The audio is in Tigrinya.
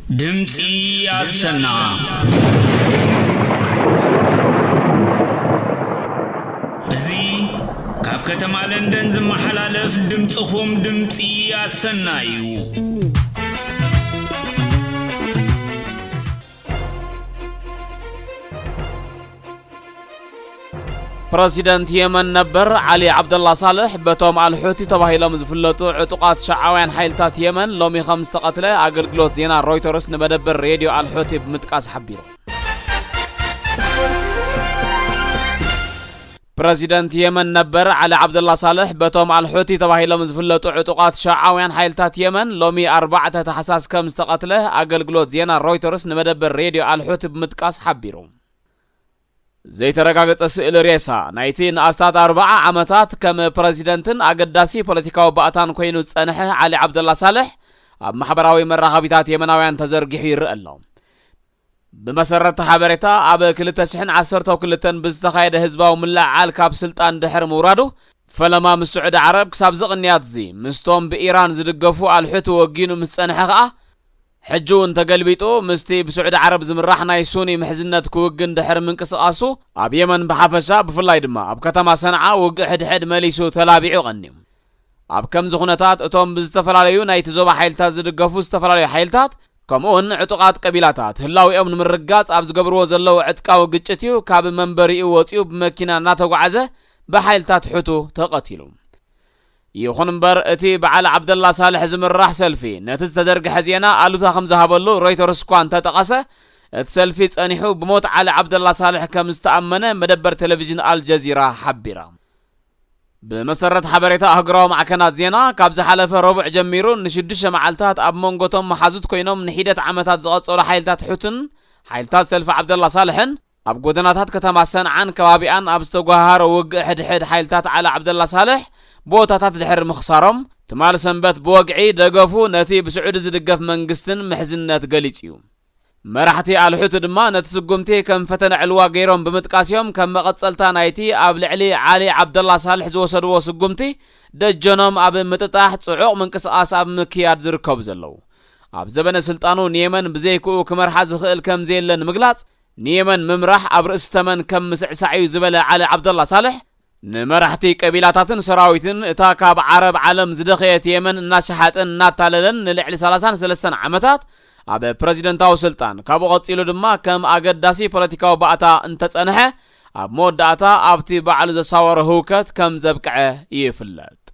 ድምፂ ኣሰና። እዚ ካብ ከተማ ለንደን ዝመሓላለፍ ድምፅኹም ድምፂ ኣሰና እዩ። ፕረሲደንት የመን ነበር ዓሊ ዓብደላ ሳልሕ በቶም ኣልሑቲ ተባሂሎም ዝፍለጡ ዕጡቓት ሸዓውያን ሓይልታት የመን ሎሚ ከም ዝተቐትለ ኣገልግሎት ዜና ሮይተርስ ንመደበር ሬድዮ ኣልሑቲ ብምጥቃስ ሓቢሩ። ፕረሲደንት የመን ነበር ዓሊ ዓብደላ ሳልሕ በቶም ኣልሑቲ ተባሂሎም ዝፍለጡ ዕጡቓት ሸዓውያን ሓይልታት የመን ሎሚ ኣርባዕተ ታሕሳስ ከም ዝተቐትለ ኣገልግሎት ዜና ሮይተርስ ንመደበር ሬድዮ ኣልሑቲ ብምጥቃስ ሓቢሩ። ዘይተረጋገጸ ስእሊ ሬሳ ናይቲ ንኣስታት ኣርባዓ ዓመታት ከም ፕረሲደንትን ኣገዳሲ ፖለቲካዊ ባእታን ኮይኑ ዝጸንሐ ዓሊ ዓብደላ ሳልሕ ኣብ ማሕበራዊ መራኸቢታት የመናውያን ተዘርጊሑ ይረአ ኣሎ። ብመሰረት ሓበሬታ፣ ኣብ ክልተ ሽሕን ዓሰርተው ክልተን ብዝተኻየደ ህዝባዊ ምልዕዓል ካብ ስልጣን ድሕሪ ምውራዱ፣ ፈለማ ምስ ስዑዲ ዓረብ ክሳብ ዝቕንያት እዚ ምስቶም ብኢራን ዝድገፉ ኣልሑቲ ወጊኑ ምስ ጸንሐ ከኣ፣ ሕጂ እውን ተገልቢጡ ምስቲ ብስዑዲ ዓረብ ዝምራሕ ናይ ሱኒ ምሕዝነት ክውግን ድሕሪ ምንቅስቓሱ፣ ኣብ የመን ብሓፈሻ ብፍላይ ድማ ኣብ ከተማ ሰንዓ ውግእ ሕድሕድ መሊሱ ተላቢዑ ቀንዩ። ኣብ ከምዚ ኩነታት እቶም ብዝተፈላለዩ ናይቲ ዞባ ሓይልታት ዝድገፉ ዝተፈላለዩ ሓይልታት ከምኡውን ዕጡቓት ቀቢላታት ህላዊኦም ንምርጋጽ ኣብ ዝገብርዎ ዘለዉ ዕጥቃዊ ግጭት እዩ ካብ መንበሪኡ ወጺኡ ብመኪና እናተጓዓዘ ብሓይልታት ሕቱ ተቐቲሉ። ይኹን እምበር እቲ ብዓሊ ዓብደላ ሳልሕ ዝምራሕ ሰልፊ ነቲ ዝተዘርግሐ ዜና ኣሉታ ከም ዝሃበሉ ሮይተርስ እኳ እንተጠቐሰ፣ እቲ ሰልፊ ጸኒሑ ብሞት ዓሊ ዓብደላ ሳልሕ ከም ዝተኣመነ መደበር ቴሌቪዥን ኣልጀዚራ ሓቢራ። ብመሰረት ሓበሬታ ኣህጉራዊ ማዕከናት ዜና፣ ካብ ዝሓለፈ ረቡዕ ጀሚሩ ንሽዱሽተ መዓልታት ኣብ መንጎቶም መሓዙት ኮይኖም ንሒደት ዓመታት ዝቐጸሉ ሓይልታት ሑትን ሓይልታት ሰልፊ ዓብደላ ሳልሕን ኣብ ጎደናታት ከተማ ሰንዓን ከባቢኣን ኣብ ዝተጓሃረ ውግእ ሕድሕድ ሓይልታት ዓሊ ዓብደላ ሳልሕ ቦታታት ድሕሪ ምኽሳሮም፣ ትማል ሰንበት ብወግዒ ደገፉ ነቲ ብስዑዲ ዝድገፍ መንግስትን ምሕዝነት ገሊጹ እዩ። መራሕቲ ኣልሑቲ ድማ ነቲ ስጉምቲ ከም ፈተነ ዕልዋ ገይሮም ብምጥቃስ እዮም ከም መቐጸልታ ናይቲ ኣብ ልዕሊ ዓሊ ዓብደላ ሳልሕ ዝወሰድዎ ስጉምቲ ደጀኖም ኣብ ምጥጣሕ ጽዑቕ ምንቅስቓስ ኣብ ምክያድ ዝርከቡ ዘለዉ። ኣብ ዘበነ ስልጣኑ ንየመን ብዘይክኡ ክመርሓ ዝኽእል ከም ዘየለ ንምግላጽ፣ ንየመን ምምራሕ ኣብ ርእሲ ተመን ከም ምስዕሳዕ እዩ ዝበለ ዓሊ ዓብደላ ሳልሕ፣ ንመራሕቲ ቀቢላታትን ሰራዊትን እታ ካብ ዓረብ ዓለም ዝደኸየት የመን እናሸሓጠን እናታለለን ንልዕሊ ሰላሳን ሰለስተን ዓመታት ኣብ ፕረዚደንታዊ ስልጣን፣ ካብኡ ቀጺሉ ድማ ከም ኣገዳሲ ፖለቲካዊ ባእታ እንተጸንሐ፣ ኣብ መወዳእታ ኣብቲ ባዕሉ ዘሳወሮ ህውከት ከም ዘብቅዐ ይፍለጥ።